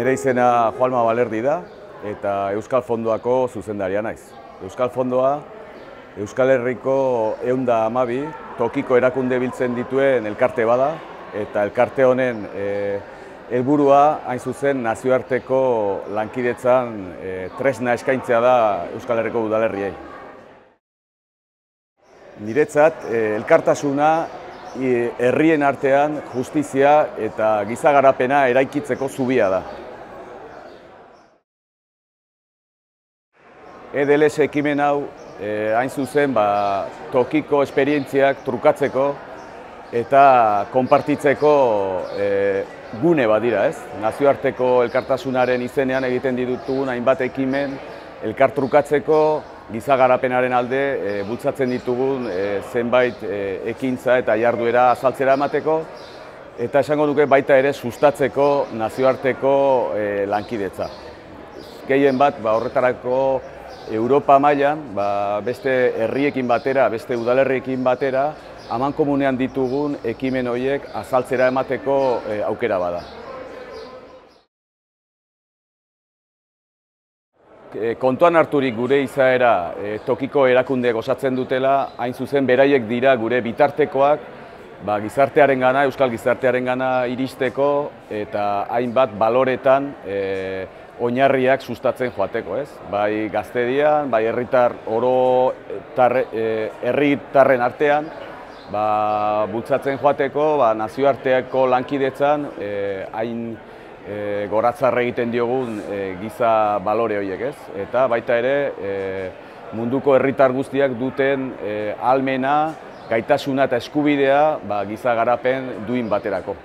Nire izena Juanma Balerdi da eta Euskal Fondoako zuzendaria naiz. Euskal Fondoa Euskal Herriko 112 tokiko erakunde biltzen dituen elkarte bada eta elkarte honen helburua hain zuzen nazioarteko lankidetzan tresna eskaintzea da Euskal Herriko udalerriei. Niretzat elkartasuna herrien artean justizia eta giza garapena eraikitzeko zubia da. EDLS ekimen hau hain zuzen tokiko esperientziak trukatzeko eta konpartitzeko gune bat dira, ez? Nazioarteko elkartasunaren izenean egiten ditugun hainbat ekimen elkartrukatzeko, giza garapenaren alde bultzatzen ditugun zenbait ekintza eta jarduera azaltzera emateko, eta esango nuke baita ere sustatzeko nazioarteko lankidetza. Gehien bat horretarako Europa mailan beste herriekin batera, beste udalerriekin batera, amankomunean ditugun ekimen horiek azaltzera emateko aukera bada. Kontuan harturik gure izaera tokiko erakundeek osatzen dutela, hain zuzen beraiek dira gure bitartekoak gizartearengana, euskal gizartearengana iristeko eta hainbat baloretan oinarriak sustatzen joateko, ez? Bai gaztedian, bai herritarren artean, bultzatzen joateko nazioarteko lankidetzan hain goratzarre egiten diogun giza balore horiek, ez? Eta baita ere munduko herritar guztiak duten ahalmena, gaitasuna eta eskubidea giza garapen duin baterako.